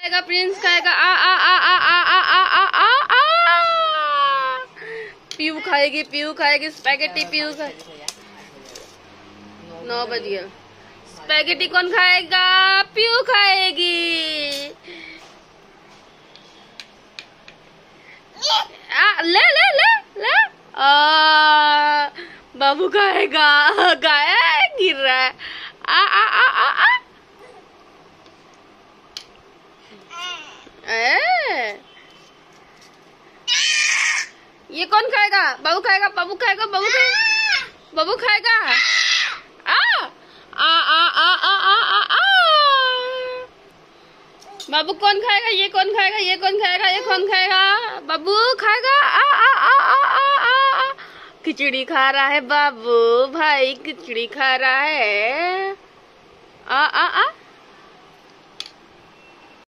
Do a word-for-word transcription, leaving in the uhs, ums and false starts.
खाएगा प्रिंस खाएगा। आ आ आ आ आ आ आ आ आ आ पीयू खाएगी, पीयू खाएगी स्पैगेटी, पीयू खाएगी। नौ बज गया। स्पैगेटी कौन खाएगा? पीयू खाएगी। आ, ले ले ले ले। आ, बाबू खाएगा, गाया गिर रहा है। आ आ आ आ आ ए। ये कौन खाएगा? बाबू खाएगा, बाबू खाएगा, बाबू खाएगा, बाबू खाएगा। आ आ आ आ आ आ आ आ बाबू कौन खाएगा? ये कौन खाएगा? ये कौन खाएगा? ये कौन खाएगा? बाबू खाएगा। आ आ आ आ आ आ खिचड़ी खा रहा है बाबू भाई, खिचड़ी खा रहा है। आ आ आ